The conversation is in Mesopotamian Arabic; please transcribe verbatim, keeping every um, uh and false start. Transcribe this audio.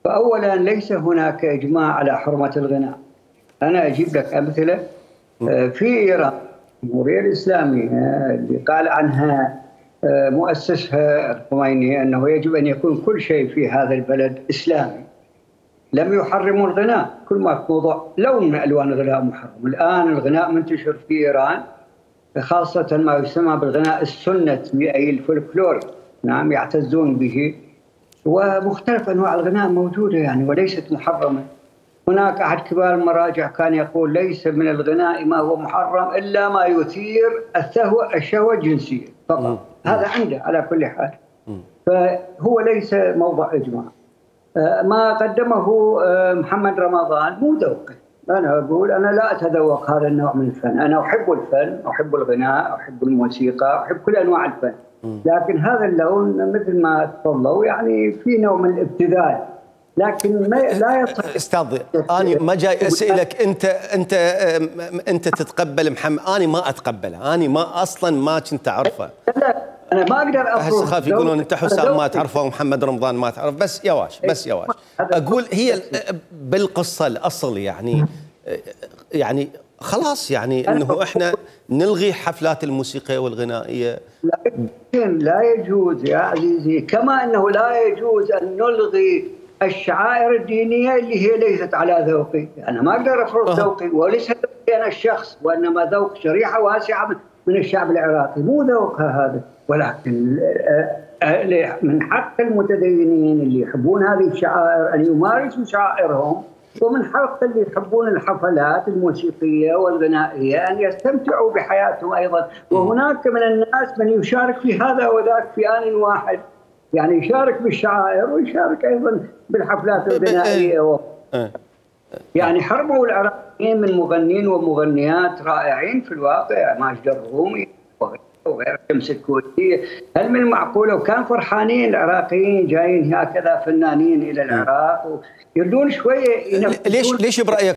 فأولا ليس هناك إجماع على حرمة الغناء. أنا أجيب لك أمثلة. في إيران الجمهورية الإسلامية اللي قال عنها مؤسسها الخميني أنه يجب أن يكون كل شيء في هذا البلد إسلامي، لم يحرموا الغناء. كل ما في موضوع لون من ألوان الغناء محرم. الآن الغناء منتشر في إيران، خاصة ما يسمى بالغناء السنة أي الفولكلور، نعم يعتزون به، ومختلف أنواع الغناء موجودة يعني وليست محرمة. هناك أحد كبار المراجع كان يقول ليس من الغناء ما هو محرم إلا ما يثير الشهوة الشهوة الجنسية فقط. هذا عنده على كل حال، فهو ليس موضع إجماع. ما قدمه محمد رمضان مو ذوقي. أنا أقول أنا لا أتذوق هذا النوع من الفن. أنا أحب الفن، أحب الغناء، أحب الموسيقى، أحب كل أنواع الفن، لكن هذا اللون مثل ما تفضلوا يعني في نوع من الابتذال، لكن ما لا يصح. استاذ انا ما جاي اسالك انت انت انت تتقبل محمد، انا ما اتقبله، انا ما اصلا ما كنت اعرفه. لا انا ما اقدر افرض. هسه خاف يقولون انت حسام ما تعرفه ومحمد رمضان ما تعرف. بس يا واش بس يا واش اقول هي بالقصه الاصل يعني يعني خلاص يعني انه احنا نلغي حفلات الموسيقيه والغنائيه. لكن لا يجوز يا عزيزي، كما انه لا يجوز ان نلغي الشعائر الدينيه اللي هي ليست على ذوقي. انا ما اقدر افرض ذوقي، وليس ذوقي انا الشخص، وانما ذوق شريحه واسعه من الشعب العراقي، مو ذوقها هذا. ولكن من حق المتدينين اللي يحبون هذه الشعائر ان يمارسوا شعائرهم، ومن حق اللي يحبون الحفلات الموسيقيه والغنائيه ان يستمتعوا بحياتهم ايضا. وهناك من الناس من يشارك في هذا وذاك في آن واحد، يعني يشارك بالشعائر ويشارك ايضا بالحفلات الغنائيه. يعني حرموا العراقيين من مغنين ومغنيات رائعين في الواقع، ماجد الرومي وغير شمس الكويتية. هل من المعقول وكان فرحانين العراقيين جايين هكذا فنانين الى العراق ويردون شويه ليش ليش برايك